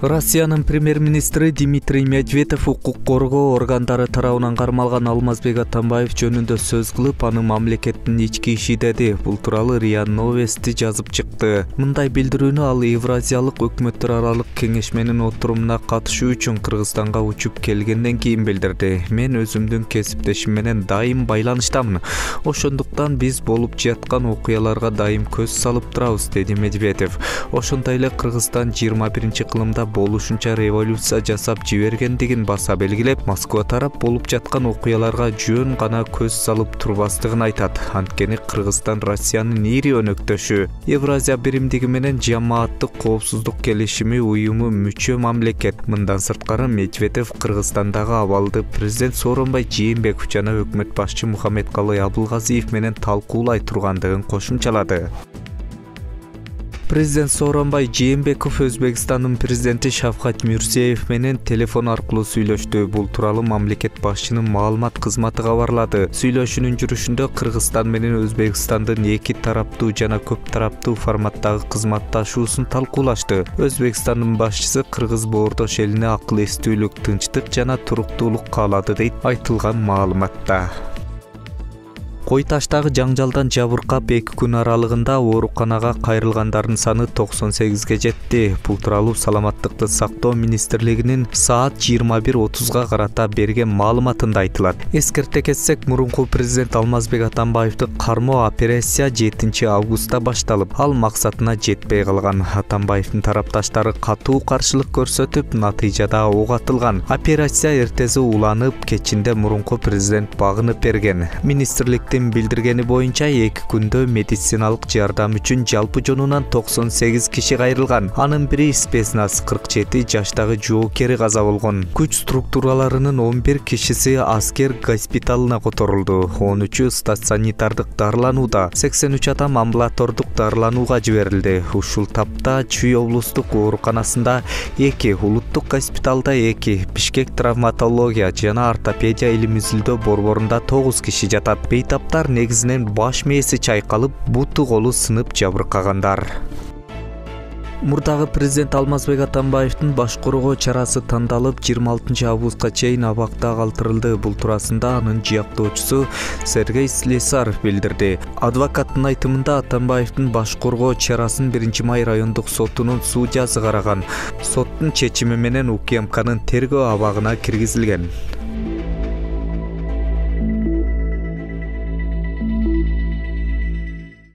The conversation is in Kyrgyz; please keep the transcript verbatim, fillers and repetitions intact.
Россиянын премьер-министри Дмитрий Медведев укук коргоо органдары тарабынан кармалган Алмазбек Атамбаев жөнүндө сөз кылып, аны мамлекеттин ички иши деди. Бул тууралуу РИА Новости жазып чыкты. Мындай билдирүүнү ал Евразиялык өкмөттөр аралык кеңешменин отурумуна катышуу үчүн Кыргызстанга учуп келгенден кийин билдирди. Мен өзүмдүн кесиптешим менен дайым байланыштамын. Ошондуктан биз болуп жаткан окуяларга дайым көз салып турабыз, деди Медведев. Ошондой эле Кыргызстан жыйырма биринчи кылымда болушунча революция жасап жибергендигин баса белгилеп, Москва тарап болуп жаткан окуяларга жөн гана көз салып турбастыгын айтат. Анткени Кыргызстан Россиянын ири өнөктөшү. Евразия биримдиги менен Жамааттык коопсуздук келишими уюму мүчө мамлекет. Мындан сырткары Медведев Кыргызстандагы абалды президент Сооронбай Жээнбеков жана өкмөт башчы Мухаммедкалый Абылгазиев менен талкуулай тургандыгын кошумчалады. Президент Сооронбай Жээнбеков Өзбекстандын президенти Шавкат Мирзиёев менен телефон аркылуу сүйлөштү. Бул тууралуу мамлекет башчынын маалымат кызматы кабарлады. Сүйлөшүүнүн жүрүшүндө Кыргызстан менен Өзбекстандын эки тараптуу жана көп тараптуу форматтагы кызматташуусун талкуулашты. Өзбекстандын башчысы Кыргыз боордош элине акыл эстүүлүк, тынчтык жана туруктуулук каалады дейт айтылган маалыматта. Кой таштагы жаңжалдан жабыркап эки күн аралыгында ооруканага кайрылгандардын саны токсон сегизге жетти. Бул тууралуу Саламаттыкты сактоо министрлигинин саат жыйырма бир отузга карата берген маалыматында айтылат. Эскерте кетсек, мурунку президент Алмазбек Атамбаевди кармоо операция жетинчи августта башталып, ал максатына жетпей калган. Атамбаевдин тарапташтары катуу каршылык көрсөтүп, натыйжада ок атылган. Операция эртеси уланып, кечинде мурунку президент багынып берген. Министрликтин билдиргени боюнча эки күндө медициналык жардам үчүн жалпы жонунан токсон сегиз киши кайрылган. Анын бири спецназ кырк жети жаштагы жоокери каза болгон. Күч структураларынын он бир кишиси аскер госпиталына которулду. он үчү стационардык дарыланууда, сексен үч адам амбулатордук дарыланууга жиберилди. Ушул тапта Чүй облустук ооруканасында эки, улуттук госпиталда эки, Бишкек травматология жана ортопедия илим изилдөө борборунда тогуз киши жатат. Бейтаптар негизинен баш мээси чайкалып, буту колу сынып жабыркагандар. Мурдагы президент Алмазбек Атамбаевдин баш коргоо чарасы тандалып, жыйырма алтынчы августка чейин абакта калтырылды. Бул туурасында анын жыяктоочусу Сергей Слесарь билдирди. Адвокаттын айтымында Атамбаевдин баш коргоо чарасын биринчи май райондук сотунун судьясы караган. Соттун чечими менен УКМКнын тергөө абагына киргизилген.